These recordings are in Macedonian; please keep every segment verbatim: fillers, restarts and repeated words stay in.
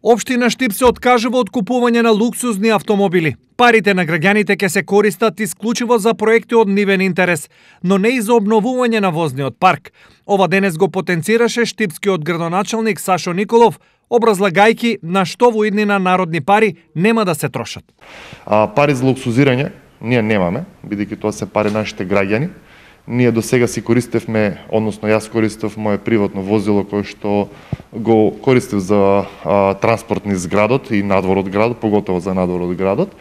Општина Штип се откажува од купување на луксузни автомобили. Парите на граѓаните ќе се користат исклучиво за проекти од нивен интерес, но не и за обновување на возниот парк. Ова денес го потенцираше штипскиот градоначалник Сашо Николов, образлагајќи на што во иднина народни пари нема да се трошат. А, пари за луксузирање ние немаме, бидејќи тоа се пари нашите граѓани. Ние до сега си користевме, односно јас користев мое приватно возило кое што го користев за а, транспорт низ градот и надвор од градот, поготово за надвор од градот.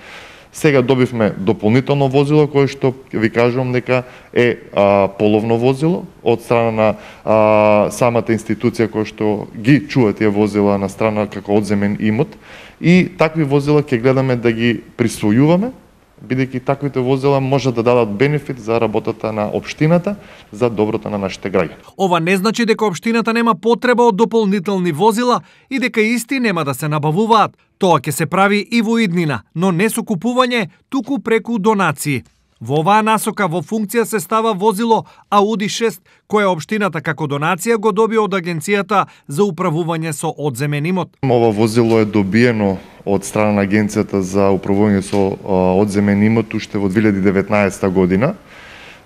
Сега добивме дополнително возило кое што ви кажувам дека е а, половно возило од страна на а, самата институција која што ги чува тие возила на страна како одземен имот, и такви возила ќе гледаме да ги присвојуваме, бидејќи таквите возила може да дадат бенефит за работата на општината, за доброто на нашите граѓани. Ова не значи дека општината нема потреба од дополнителни возила и дека исти нема да се набавуваат. Тоа ќе се прави и во иднина, но не со купување, туку преку донации. Во оваа насока во функција се става возило Ауди шест, кое општината како донација го доби од Агенцијата за управување со одземен имот. Ова возило е добиено од страна на Агенцијата за управување со одземен имот уште во две илјади и деветнаесета година.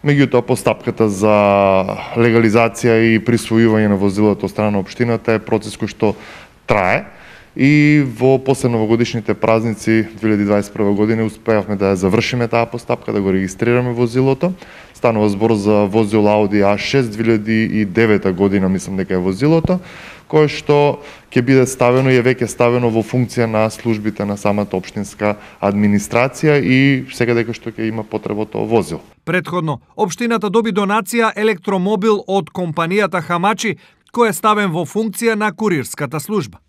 Меѓутоа, постапката за легализација и присвојување на возилото од страна на општината е процес кој што трае. И во последновогодишните празници две илјади дваесет и прва година успеавме да ја завршиме таа постапка, да го регистрираме возилото. Станува збор за возило Ауди А шест две илјади и девета година, мислам дека е возилото, кое што ќе биде ставено и е веќе ставено во функција на службите на самата општинска администрација и сега дека што ќе има потреба тоа возило. Претходно, општината доби донација електромобил од компанијата Хамачи, кој е ставен во функција на курирската служба.